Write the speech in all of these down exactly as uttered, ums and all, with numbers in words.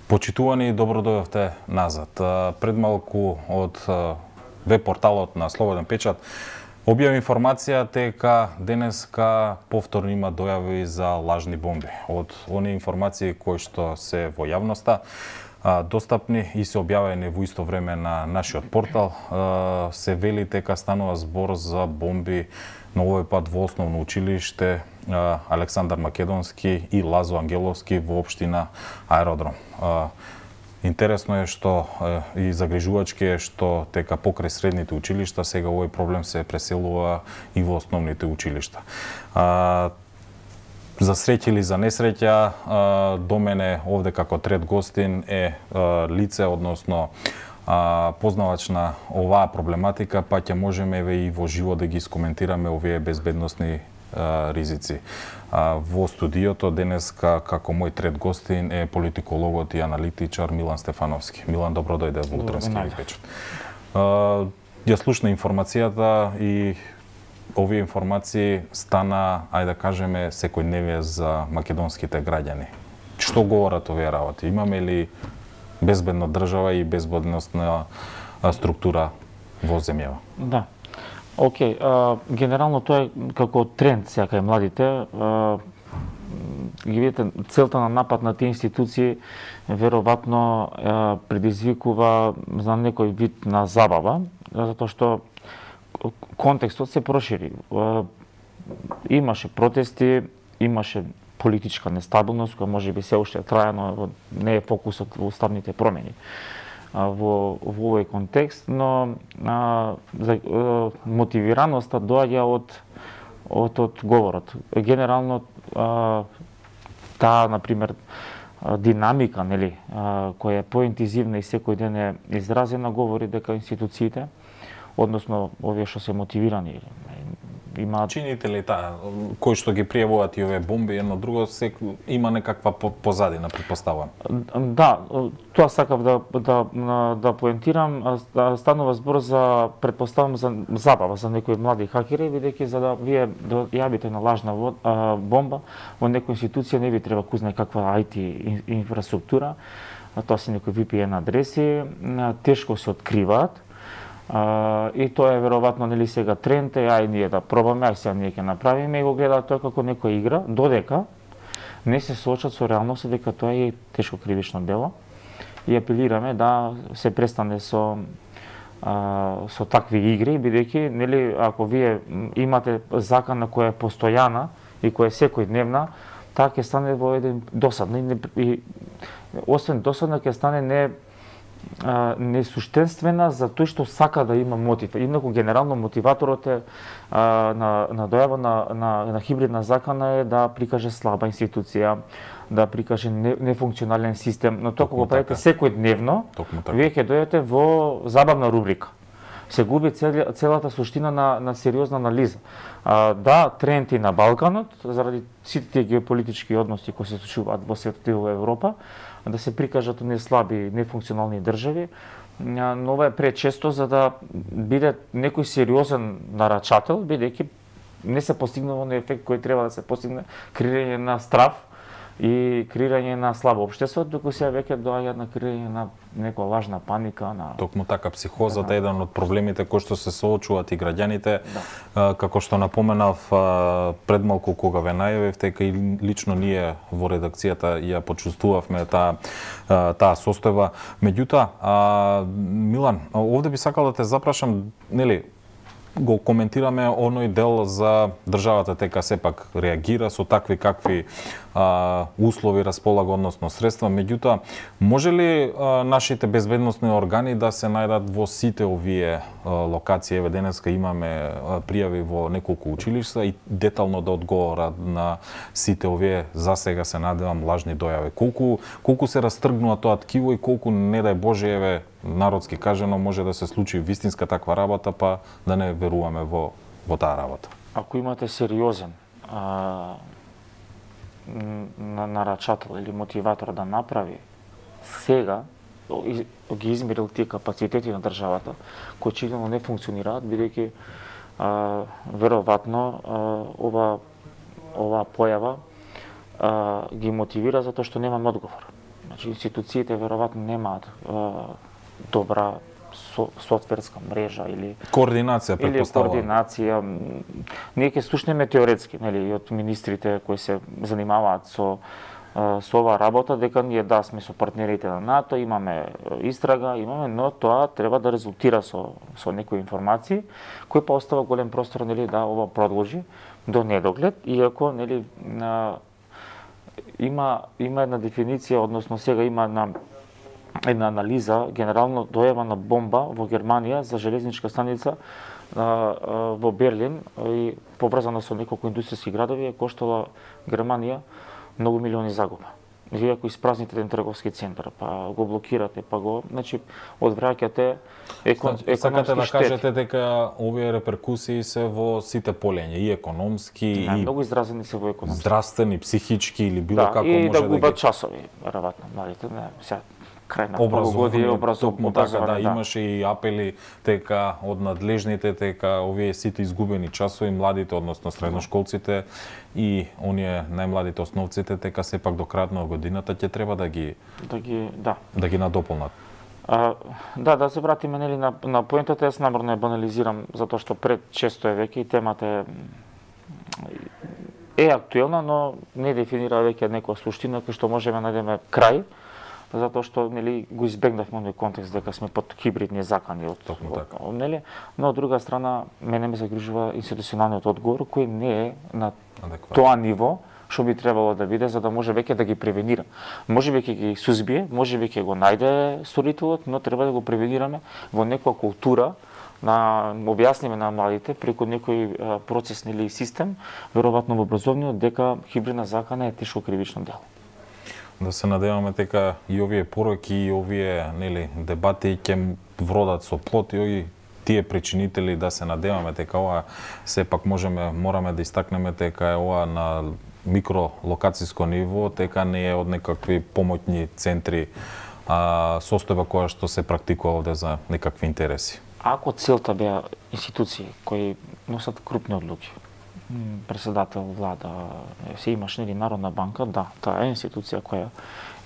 Почитувани, добро дојдовте назад. Пред малку од веб порталот на Слободен печат објави информација дека денеска повторно има дојави за лажни бомби. Од оние информации кои што се во јавноста достапни и се објавени во исто време на нашиот портал, се вели дека станува збор за бомби на овој пат во основно училиште Александар Македонски и Лазо Ангеловски во општина Аеродром. Интересно е што и загрижувачки е што дека покрај средните училишта сега овој проблем се преселува и во основните училишта. За среќа или за несреќа, до мене овде како трет гостин е лице, односно познавач на оваа проблематика, па ќе можеме еве и во живо да ги скоментираме овие безбедносни ризици. Во студиото денеска како мој трет гостин е политикологот и аналитичар Милан Стефановски. Милан, добро дојде во Утрески печат. Ја слушна информацијата и овие информации стана, ајде да кажеме, секојдневие за македонските граѓани. Што говорат овие работи? Имаме ли безбедна држава и безбедносна структура во земјава? Да. Океј, okay. Генерално тоа е како тренд сега кај младите. А, ги видите, целта на напад на тие институции веројатно предизвикува за некој вид на забава, затоа што контекстот се прошири. А, имаше протести, имаше политичка нестабилност, која можеби се уште трае, но не е фокусот во уставните промени во, во овој контекст, но а, за, а, мотивираноста доаѓа од, од, од говорот. Генерално а, таа, например, динамика, нели, а, која е поинтензивна и секој ден е изразена, говори дека институциите, односно овие што се мотивирани, има... Чините ли таа, кои што ги пријавуваат и овие бомби, едно друго, се, има некаква позадина, предпоставувам? Да, тоа сакав да, да, да поентирам. Станува збор за, предпоставам, за забава за некои млади хакери, бидејќи за да вие јавите на лажна бомба во некоја институција не ви треба кузна каква ај ти инфраструктура, тоа се некои ви пи ен адреси, тешко се откриваат. Uh, и тоа е веројатно нели сега тренд, ај ние да пробаме, ај сега ние ќе направиме и го гледаат тоа како некоја игра, додека не се соочат со реалноста дека тоа е тешко кривично дело и апелираме да се престане со uh, со такви игри, бидејќи нели ако вие имате закана која е постојана и која е секојдневна, таа ќе стане во еден досадна и, не, и освен досадна ќе стане не несуштенствена за тој што сака да има мотив. Инаку генерално мотиваторот е а, на, на дојава на, на, на хибридна закана е да прикаже слаба институција, да прикаже не, нефункционален систем, но тоа кога го правите секојдневно, вие ќе дојдете во забавна рубрика. Се губи цели, целата суштина на, на сериозна анализа. А, да, тренд и на Балканот, заради сите тие геополитички односи кои се случуваат во светот и во Европа, да се прикажат оние слаби, нефункционални држави, но ова е пречесто за да биде некој сериозен нарачател, бидејќи не се постигнува оној ефект кој треба да се постигне, креирање на страв и креирање на слабо општество, докато сега веќе доаѓа на креирање на некоја лажна паника, на токму така психозата е еден од проблемите кои што се соочуваат и граѓаните, да. Како што напоменав пред малку кога ве најавив, дека и лично ние во редакцијата ја почувствувавме таа таа состојба. Меѓутоа, Милан, овде би сакал да те запрашам, нели, го коментираме оној дел за државата дека сепак реагира со такви какви а, услови располага, односно средства, меѓутоа може ли а, нашите безбедносни органи да се најдат во сите овие а, локации? Еве денеска имаме а, пријави во неколку училишта и детално да одговорат на сите овие, за сега се надевам, лажни дојави. Колку колку се растргнува тоа ткиво и колку, не дај Боже, еве народски кажано, може да се случи вистинска таква работа, па да не веруваме во во таа работа. Ако имате сериозен а, на нарачател или мотиватор да направи сега, ги измерил тие капацитети на државата, кои очигледно не функционираат, бидејќи веројатно ова ова појава а, ги мотивира затоа што немаме одговор. Значи институциите веројатно немаат добра со, софтверска мрежа или координација или координација. Ние ќе слушнеме теоретски, нели, од министрите кои се занимаваат со со оваа работа, дека ние да сме со партнерите на НАТО, имаме истрага, имаме, но тоа треба да резултира со со некои информации кои па остава голем простор, нели, да ова продолжи до недоглед, иако, нели, на има има една дефиниција, односно сега има една една анализа, генерално дојава на бомба во Германија за железничка станица а, а, во Берлин и поврзана со неколку индустријски градови е коштала Германија многу милиони загуба. Вие ако испразните еден трговски центар, па го блокирате, па го, значи одвраќате екон, значи, економски сакате да штети. кажете дека овие реперкусии се во сите полења, и економски, да, и многу изразени се во економски, здравствени, психички или било да, како и може да да губат ги... часови, веројатно, младите, не, сега крај на образование, образов, токму така, да, да, имаше и апели дека од надлежните дека овие сите изгубени часови младите, односно средношколците и оние најмладите основците дека сепак до крајот на годината ќе треба да ги да ги да да ги надополнат. А, да, да се вратиме, нели, на на поентата, јас намерно ја банализирам затоа што пред шесто веќе и темата е е актуелна, но не дефинира веќе некоја суштина кој што можеме да најдеме крај, затоа што, нели, го избегнавме овој контекст дека сме под хибридни закани од Токму така. од, нели, но од друга страна мене ме загрижува институционалниот одговор кој не е на Адекватно. тоа ниво што би требало да биде за да може веќе да ги превенира. Може би ќе ги сузбие, може би ќе го најде сторителот, но треба да го превенираме во некоја култура, на објасниме на младите преку некој процес или систем, веројатно во образовниот, дека хибридна закана е тешко кривично дело. Да се надеваме дека и овие пороки и овие, нели, дебати ќе вродат со плод и тие причинители, да се надеваме дека ова сепак можеме мораме да истакнеме дека е ова на микролокацијско ниво, дека не е од некакви помоќни центри а, состојба која што се практикува овде за некакви интереси. Ако целта беа институции кои носат крупни одлуки, председател, влада, се имаш, нели, Народна банка, да, таа е институција која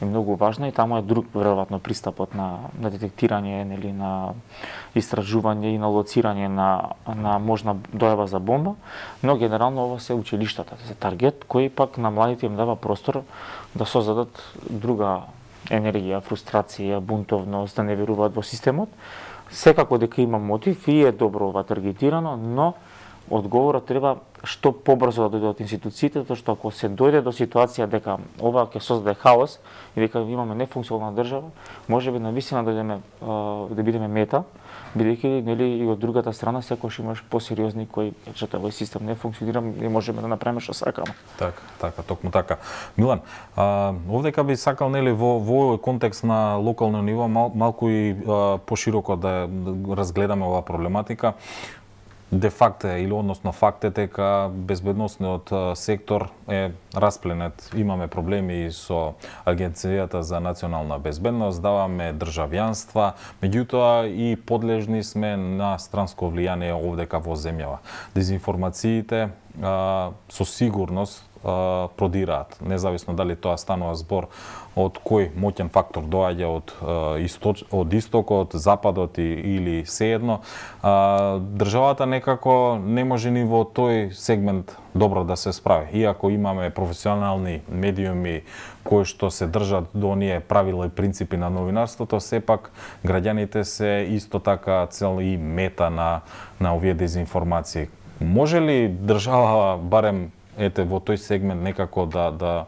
е многу важна и таму е друг веројатно пристапот на на детектирање, нели, на истражување и на лоцирање на на можна дојава за бомба, но генерално ова се училиштата, се таргет кој пак на младите им дава простор да создадат друга енергија, фрустрација, бунтовност, да не веруваат во системот. Секако дека има мотив и е добро ова таргетирано, но одговорот треба што побрзо да дојде од институциите, затоа што ако се дојде до ситуација дека ова ќе создаде хаос и дека имаме нефункционална држава, можеби навистина да бидеме да бидеме мета, бидејќи, нели, и од другата страна секогаш имаш посериозни кои че овој систем не функционира и можеме да направиме што сакаме. Така, така, токму така. Милан, а, овдека би сакал, нели, во во овој контекст на локално ниво мал, малку и а, пошироко да, да разгледаме оваа проблематика. Де факто или односно факт е дека безбедносниот сектор е распленет. Имаме проблеми со Агенцијата за национална безбедност, даваме државјанства, меѓутоа и подлежни сме на странско влијание овдека во земјава. Дезинформациите а, со сигурност а, продираат, независно дали тоа станува збор од кој моќен фактор доаѓа од источ, од истокот, западот и, или сеедно. А, државата некако не може ни во тој сегмент добро да се справи. Иако имаме професионални медиуми кои што се држат до оние правила и принципи на новинарството, сепак граѓаните се исто така цел и мета на на овие дезинформации. Може ли држава барем ете во тој сегмент некако да да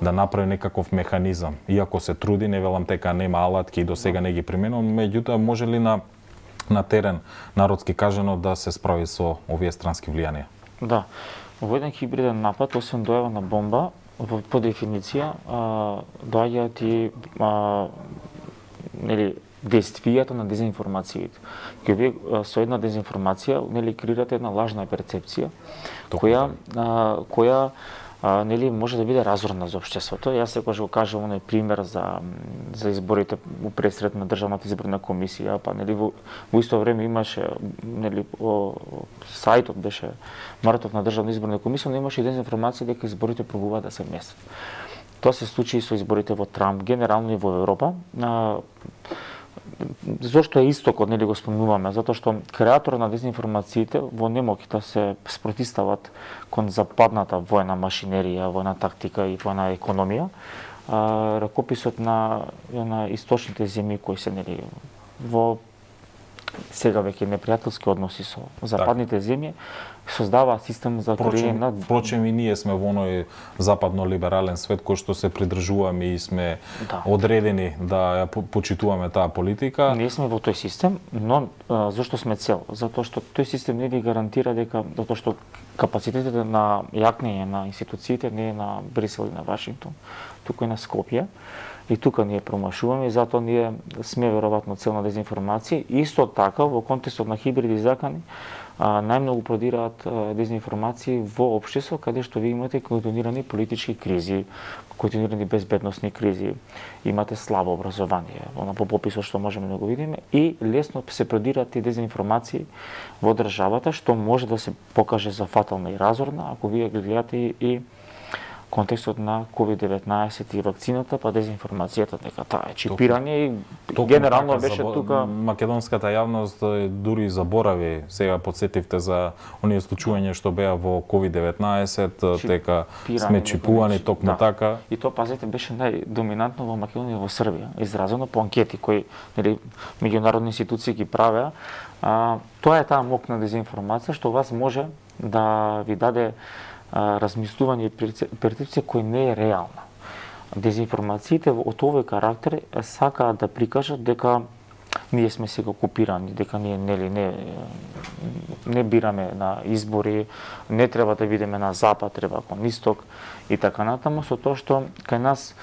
да направи некаков механизам, иако се труди, не велам дека нема алатки и до сега не ги применува, меѓутоа може ли на на терен, народски кажано, да се справи со овие странски влијанија? Да, во еден хибриден напад, освен дојава на бомба, во, по дефиниција доаѓаат и а, нели, действијата на дезинформациите. Ке вие со една дезинформација, нели, креирате една лажна перцепција, која а, која а, нели, може да биде разорна за општеството. Јас секогаш го кажам оној пример за за изборите у пресред на Државната изборна комисија, па, нели, во, во исто време имаше, нели, о, сајтот беше Мартов на Државна изборна комисија, но имаше и дезинформација дека изборите пробуваат да се местат. Тоа се случи и со изборите во Трамп, генерално и во Европа. Зошто е истокот, нели го спомнуваме? Затоа што креатор на дезинформациите во немоќ да се спротистават кон западната војна машинерија, војна тактика и војна економија, а, ракописот на, на источните земји кои се нели во сега веќе непријателски односи со западните земји, создава систем за корење на... Впрочем, и ние сме во оној западно-либерален свет кој што се придржуваме и сме да. одредени да ја почитуваме таа политика. Ние сме во тој систем, но а, зашто сме цел? Затоа што тој систем не ви гарантира дека, затоа што капацитетите на јакнење на институциите не е на Брисел и на Вашингтон, туку е на Скопје. И тука ние промашуваме и затоа ние сме веројатно цел на дезинформација. Исто така, во контекстот на хибриди закани, а, најмногу продираат а, дезинформации во општество каде што ви имате континуирани политички кризи, континуирани безбедносни кризи, имате слабо образование, она по пописот што можеме да го видиме, и лесно се продираат и дезинформации во државата, што може да се покаже за фатална и разорна, ако вие гледате и, и контекстот на ковид деветнаесет и вакцината, па дезинформацијата дека таа е чипирање и Току, генерално така, беше забо... тука... Македонската јавност дури заборави, сега подсетивте за оние случувања што беа во ковид деветнаесет, дека сме чипувани, токму да. така. И тоа, пазете, беше најдоминантно во Македонија и во Србија, изразено по анкети кои нели меѓународни институции ги правеа. А, тоа е таа мокна дезинформација што вас може да ви даде размислување и перцепција кој не е реална. Дезинформациите од овој карактер сакаат да прикажат дека ние сме сега окупирани, дека ние нели не не бираме на избори, не треба да видиме на запад, треба кон исток и така натаму, со тоа што кај нас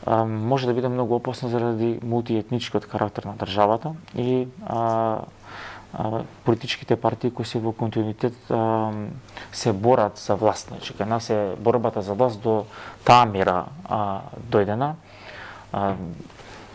а, може да биде многу опасно заради мултиетничкиот карактер на државата и а, а, политичките партии кои се во континуитет а, се борат за власт. Значи, кај нас е борбата за власт до таа мера а, дојдена, а,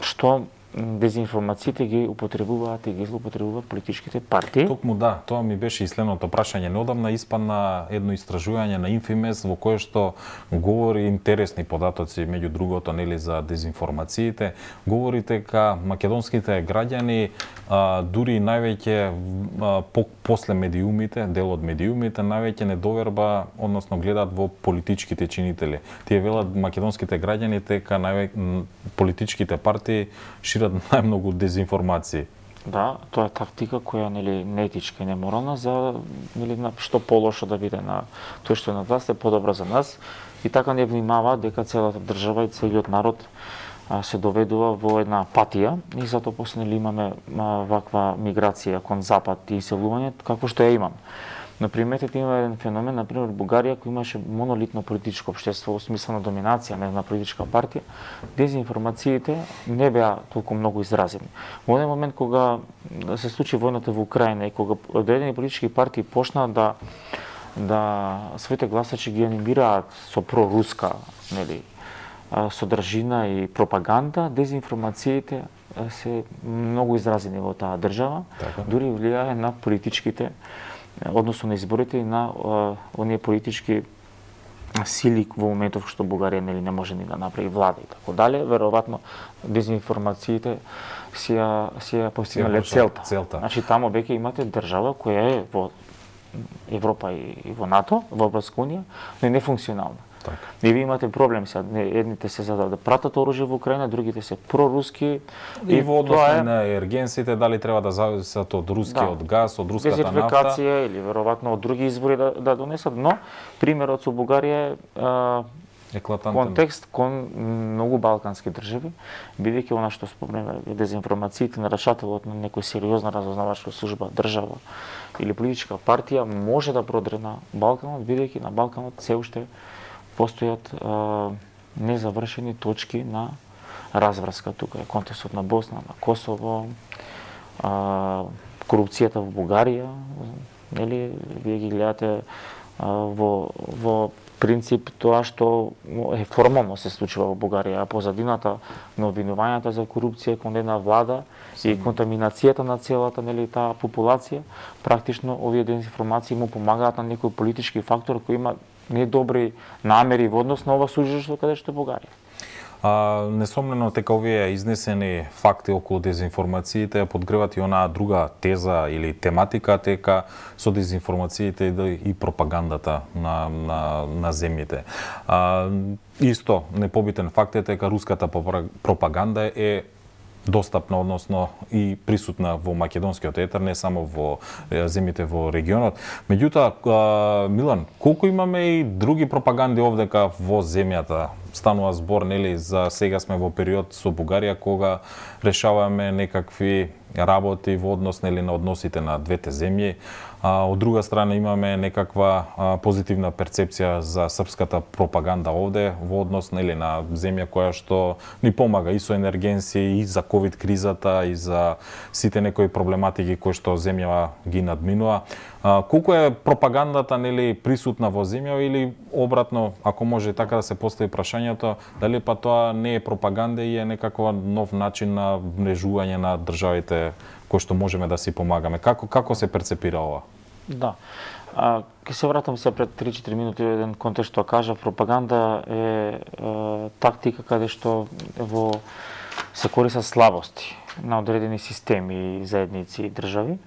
што дезинформациите ги употребуваат и ги злоупотребуваат политичките партии. Токму да, тоа ми беше и следното прашање. Неодамна испадна едно истражување на Infimess во кое што говори интересни податоци, меѓу другото, нели, за дезинформациите. Говорите дека македонските граѓани а, дури највеќе а, по, после медиумите, дел од медиумите, највеќе недоверба, односно гледаат во политичките чинители. Тие велат македонските граѓани дека највеќе политичките партии шират најмногу дезинформации. Да, тоа е тактика која нели неетичка и неморална за нели на што полошо да биде на тој што е на власт е подобро за нас и така не внимава дека целата држава и целиот народ а, се доведува во една апатија и затоа после нели имаме а, ваква миграција кон запад и иселување како што ја имаме. Но приметете има еден феномен, например Бугарија, која имаше монолитно политичко општество во смисла на доминација на една политичка партија, дезинформациите не беа толку многу изразени. Во еден момент кога се случи војната во Украина и кога одредени политички партии почнаа да да своите гласачи ги анимираат со проруска, нели, содржина и пропаганда, дезинформациите се многу изразени во таа држава, така. Дури влијае на политичките, односно на изборите и на оние политички сили во моментов што Бугарија нели не може ни да направи влада и така дале. Веројатно дезинформациите си ја си ја постигнале целта. целта. Значи таму веќе имате држава која е во Европа и во НАТО, во Европска унија, но е нефункционална. Така. И ви имате проблем сега, едните се за да пратат оружје во Украина, другите се проруски. И, и во однос е... на ергенсите, дали треба да зависат од рускиот да. газ, од руската нафта. Дезинфекација или веројатно од други извори да, да донесат, но примерот со Бугарија е контекст кон многу балкански држави, бидејќи она што спомнеме дезинформациите на рашателот на некој сериозна разузнавачка служба, држава или политичка партија може да продре на Балканот, бидејќи на Балканот се уште постојат а, незавршени точки на разврска. Тука е контекстот на Босна, на Косово, а, корупцијата во Бугарија, нели, вие ги гледате а, во, во принцип тоа што е формално се случува во Бугарија, а позадината на обвинувањата за корупција кон една влада и контаминацијата на целата нели таа популација, практично овие дезинформации му помагаат на некој политички фактор кој има недобри намери во однос на ова суџештво каде што е Бугарија. А, несомнено дека овие изнесени факти околу дезинформациите подгреват и онаа друга теза или тематика дека со дезинформациите и пропагандата на, на, на земјите. А, исто, непобитен факт е дека руската пропаганда е достапна, односно и присутна во македонскиот етер, не само во земјите во регионот. Меѓутоа, Милан, колку имаме и други пропаганди овдека во земјата? Станува збор, нели, за сега сме во период со Бугарија кога решаваме некакви работи во однос, нели, на односите на двете земји. А, од друга страна имаме некаква а, позитивна перцепција за српската пропаганда овде во однос, нели, на земја која што ни помага и со енергенција, и за ковид кризата, и за сите некои проблематики кои што земјава ги надминува. А, колку е пропагандата, нели, присутна во земја или обратно, ако може така да се постави прашањето, дали па тоа не е пропаганда и е некаков нов начин на вмрежување на државите кои што можеме да си помагаме. Како како се перцепира ова? Да. А, ке се вратам се пред три-четири минути еден контекст што кажа, пропаганда е, е тактика каде што во се користат слабости на одредени системи, заедници и држави.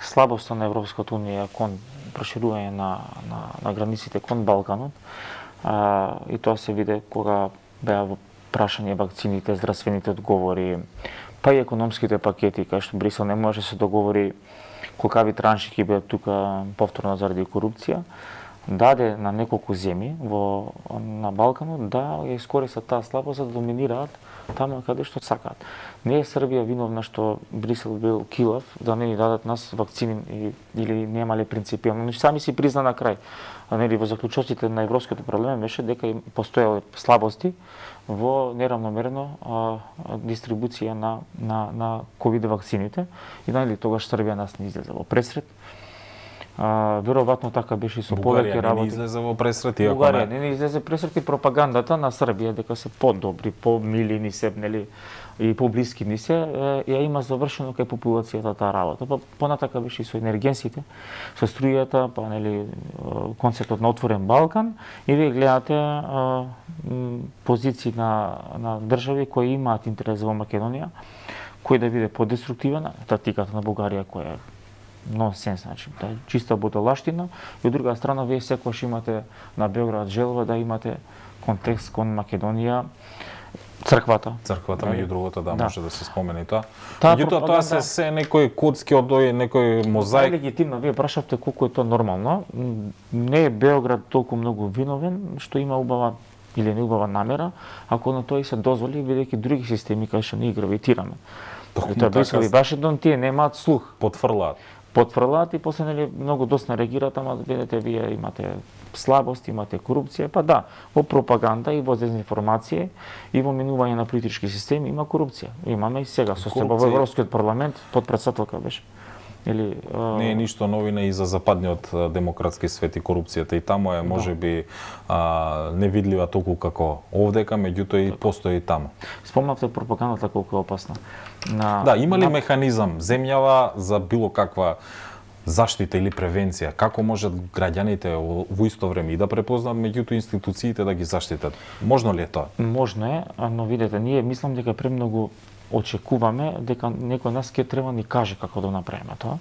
Слабоста на Европската унија кон проширување на, на, на границите кон Балканот. А, и тоа се виде кога беа прашање вакцините, здравствените одговори, па и економските пакети, кај што Брисел не може да се договори колкави транши ќе бидат тука повторно заради корупција, даде на неколку земји во на Балканот да ја искористат таа слабост за да доминираат таму каде што сакаат. Не е Србија виновна што Брисел бил килав да не ни дадат нас вакцини и, или немале принципијално. Значи сами си призна на крај. А нели во заклучоците на Европскиот парламент беше дека им постоеле слабости во неравномерно а, дистрибуција на на на ковид вакцините и нели тогаш Србија нас не излезе во пресред. А, веројатно така беше и со повеќе работи. Бугарија не излезе во пресрет, иако Бугарија не, не излезе пресрет и пропагандата на Србија дека се подобри, помили ни се, нели, и поблиски ни се, ја има завршено кај популацијата таа работа. Па понатака беше и со енергенсите, со струјата, па нели концептот на отворен Балкан и вие гледате а, позиции на на држави кои имаат интерес во Македонија, кој да биде подеструктивен, тактиката на Бугарија која е нонсенс, значи, да е чиста будалаштина, и од друга страна вие секогаш имате на Белград желба да имате контекст кон Македонија, црквата. Црквата, меѓу другото, да, да, може да се спомени тоа. Таа Меѓутоа, тоа се се некои коцки од овој некој мозаик. Тоа е легитимно, вие прашавте колку е тоа нормално. Не е Белград толку многу виновен што има убава или неубава намера, ако на тоа и се дозволи, бидејќи други системи кај што ние гравитираме. Тоа Брисел и Вашингтон тие немаат слух. Потфрлаат. Потфрлаат и после нели многу доцна реагираат, ама видите вие имате слабост, имате корупција, па да, во пропаганда и во дезинформација и во минување на политички системи има корупција. Имаме и сега со себе во Европскиот парламент подпредседателка беше. Или а... не е ништо новина и за западниот демократски свет и корупцијата и таму е можеби а, невидлива толку како овдека, меѓутоа и постои и таму. Спомнавте пропагандата колку е опасна. На... Да, има ли на... механизам земјава за било каква заштита или превенција? Како можат граѓаните во исто време и да препознаат, меѓутоа институциите да ги заштитат? Можно ли е тоа? Можно е, но видете, ние мислам дека премногу очекуваме дека некој нас ќе треба ни каже како да направиме тоа.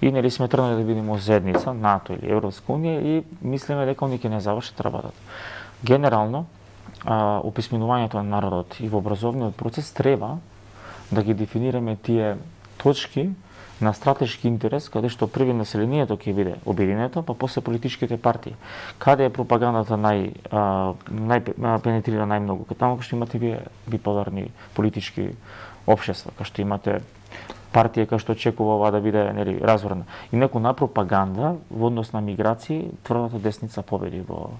И нели сме тргнали да бидеме заедница, НАТО или Европска унија и мислиме дека они ќе не завршат работата. Генерално, а, описменувањето на народот и во образовниот процес треба да ги дефинираме тие точки на стратешки интерес, каде што први населението ќе биде обединето, па после политичките партии. Каде е пропагандата нај а, нај пенетрира најмногу? Таму кај што имате вие биполарни политички општества, кај што имате партија кај што очекува ова да биде нели разворена. И некој на пропаганда во однос на миграции, тврдата десница победи во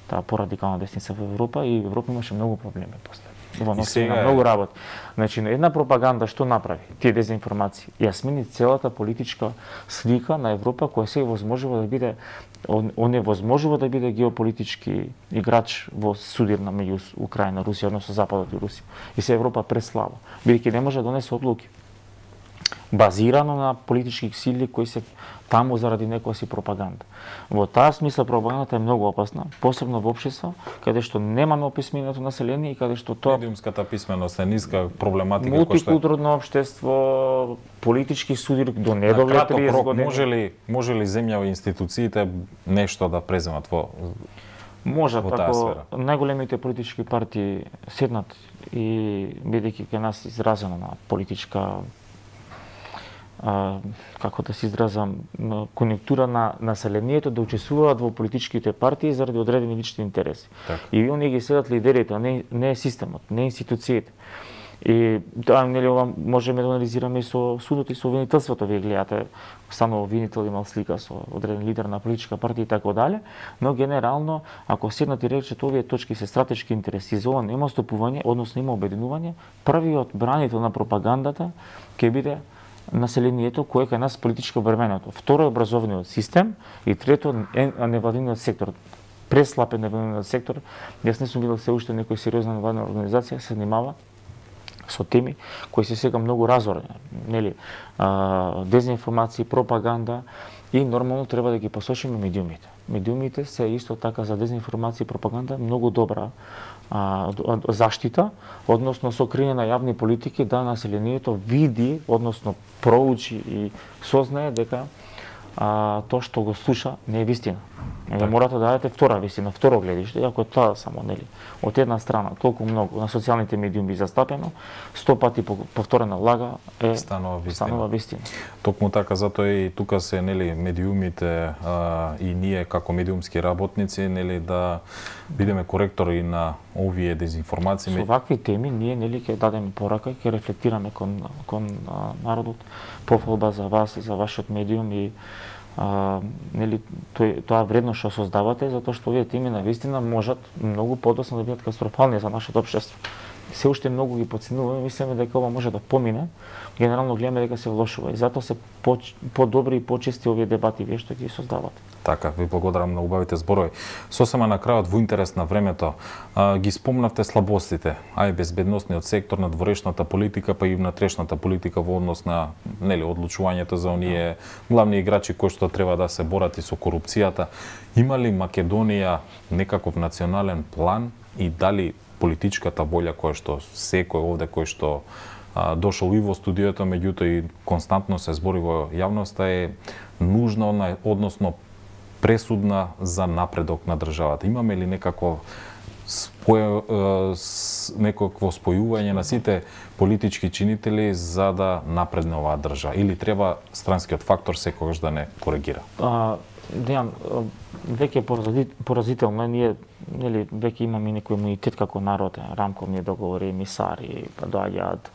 таа порадикална десница во Европа и Европа имаше многу проблеми после. Во носи на многу работа. Значи, една пропаганда што направи? Тие дезинформации. Ја смени целата политичка слика на Европа која се возможува да биде оневозможува да биде геополитички играч во судирна меѓу Украина, Русија, односно Западот и Русија. И се Европа преслава, бидејќи не може да донесе одлуки. базирано на политички сили кои се таму заради некоја си пропаганда. Во таа смисла пропагандата е многу опасна, посебно во општество каде што немаме описменото население и каде што тоа медиумската писменост е ниска, проблематика која што мултикултурно општество, политички судир до недоглед триесет години. Може ли може ли земја и институциите нешто да преземат во Можат, ако најголемите политички партии седнат и бидејќи кај нас изразено на политичка а, како да се изразам, конјунктура на населението да учествуваат во политичките партии заради одредени лични интереси. Так. И оние ги седат лидерите, не, не е системот, не е институциите. И тоа нели ова можеме да анализираме и со судот и со обвинителството. Вие гледате, станува обвинител имал слика со одреден лидер на политичка партија и така дале, но генерално ако седнат и речат овие точки се стратешки интереси, за ова нема стопување, односно има обединување, првиот бранител на пропагандата ќе биде населението кое кај нас политичко обременето. Второ е образовниот систем и трето е невладиниот сектор. Преслаб е невладиниот сектор. Јас не сум видел се уште некоја сериозна невладина организација се занимава со теми кои се сега многу разорни, нели, а, дезинформација, пропаганда и нормално треба да ги посочиме медиумите. Медиумите се исто така за дезинформација и пропаганда многу добра а, заштита, односно со криење на јавни политики да населението види, односно проучи и сознае дека а, тоа што го слуша не е вистина. Така. Морате да дадете втора вистина, второ гледиште, иако тоа само, нели, од една страна толку многу на социјалните медиуми застапено, сто пати повторена лага е станува вистина. Станува вистина. Токму така, затоа и тука се, нели, медиумите а, и ние како медиумски работници, нели, да бидеме коректори на овие дезинформации. Со вакви теми ние, нели, ќе дадеме порака, ќе рефлектираме кон кон а, народот, пофалба за вас и за вашиот медиум и А, нели, тој, тоа вредно што создавате, затоа што овие теми на вистина можат многу подоцна да бидат катастрофални за нашето општество. Се уште многу ги потценуваме, мислиме дека ова може да помине, генерално гледаме дека се влошува и затоа се по, подобри и почести овие дебати вие што ги создавате. Така, ви благодарам на убавите зборови. Сосема на крајот, во интерес на времето, а, ги спомнавте слабостите, а и безбедносниот сектор на дворешната политика, па и внатрешната политика во однос на, нели, одлучувањето за оние главни играчи кои што треба да се борат и со корупцијата. Има ли Македонија некаков национален план и дали политичката волја која што секој овде кој што а, дошол и во студиото, меѓутоа и константно се збори во јавноста е нужна, односно пресудна за напредок на државата. Имаме ли некакво спој, некакво спојување на сите политички чинители за да напредне оваа држава? Или треба странскиот фактор секогаш да не коригира? А, Дејан, веќе поразително, ние, нели, веќе имаме некој имунитет како народ, рамковни договори, мисари, па доаѓаат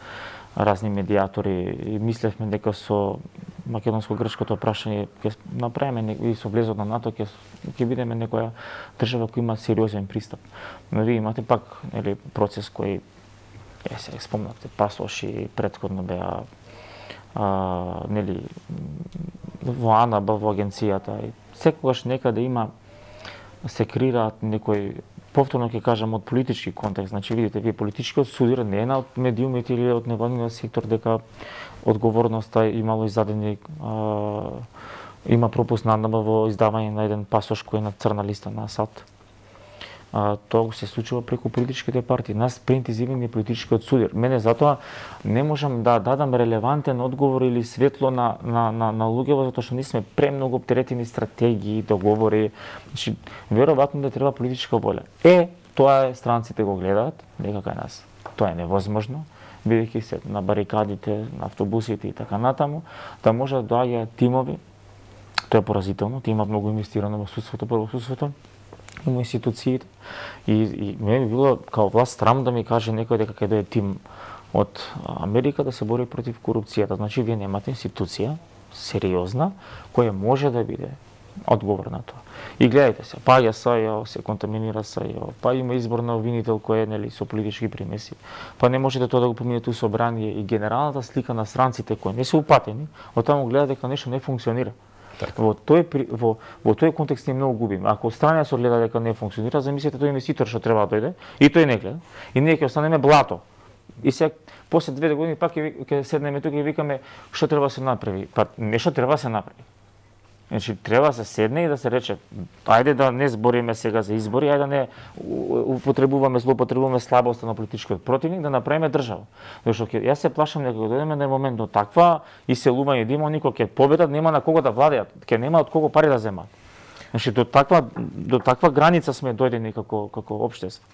разни медиатори и мислевме дека со македонско-грчкото прашање ќе направиме и со влезот на НАТО ќе ќе бидеме некоја држава која има сериозен пристап. Но вие имате пак, нели, процес кој е се спомнавте пасоши, претходно беа а, нели, во АНАБ, во агенцијата и секогаш некаде има се креираат некој, повторно ќе кажам, од политички контекст. Значи видите, вие политичкиот судир не е на медиумите или од невладиниот сектор дека одговорноста имало издадени а, има пропуск на АНАБ во издавање на еден пасош кој е на црна листа на САД. А, тоа се случува преку политичките партии. Нас преинтензивен е политичкиот судир. Мене затоа не можам да дадам релевантен одговор или светло на на на, на луѓето затоа што ние сме премногу оптеретени стратегии, договори. Значи веројатно да треба политичка воља. Е, тоа е странците го гледаат, дека кај нас тоа е невозможно, бидејќи се на барикадите, на автобусите и така натаму, да може да доаѓаат тимови. Тоа е поразително, ти има многу инвестирано во судството, прво судството. Има институциите и, и мене би било као власт срам да ми каже некој дека ќе дојде тим од Америка да се бори против корупцијата. Значи вие немате институција сериозна која може да биде одговор на тоа. И гледајте се, паѓа САЈО, се контаминира САЈО, па има избор на обвинител кој е, нели, со политички примеси. Па не можете тоа да го поминете у собрание и генералната слика на странците кои не се упатени, од таму гледа дека нешто не функционира. Так. Во тој во во тој контекст ние многу губиме. Ако страна се гледа дека не функционира, замислете тој инвеститор што треба да дојде и тој не гледа. И ние ќе останеме блато И сега после две години пак ќе седнеме тука и викаме што треба да се направи. Па нешто треба да се направи. Значи треба да се седне и да се рече ајде да не збориме сега за избори, ајде да не употребуваме, злоупотребуваме слабоста на политичкиот противник, да направиме држава. Зашто јас се плашам дека кога дојдеме на момент до таква иселување да има никој ќе победат, нема на кого да владеат, ќе нема од кого пари да земат. Значи до таква до таква граница сме дојдени како како општество.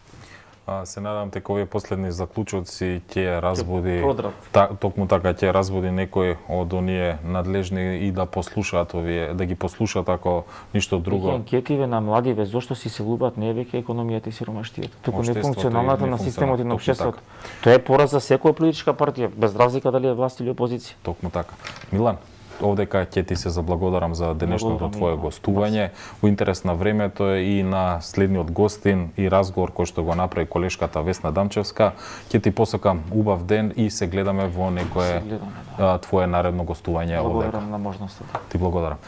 А, се надам дека овие последни заклучоци ќе разбуди та, токму така ќе разбуди некој од оние надлежни и да послушаат овие, да ги послушаат ако ништо друго. Веќе анкетиве на младиве зошто се иселуваат не е веќе економијата и сиромаштијата, туку нефункционалната на системот и на општеството. Тоа е пораз за секоја политичка партија, без разлика дали е власт или опозиција. Токму така. Милан, овдека ќе ти се заблагодарам за денешното твое гостување. Во интерес на времето и на следниот гостин и разговор кој што го направи колешката Весна Дамчевска, ќе ти посакам убав ден и се гледаме во некое гледаме, да. твое наредно гостување овдека. Благодарам на можноста. Ти благодарам.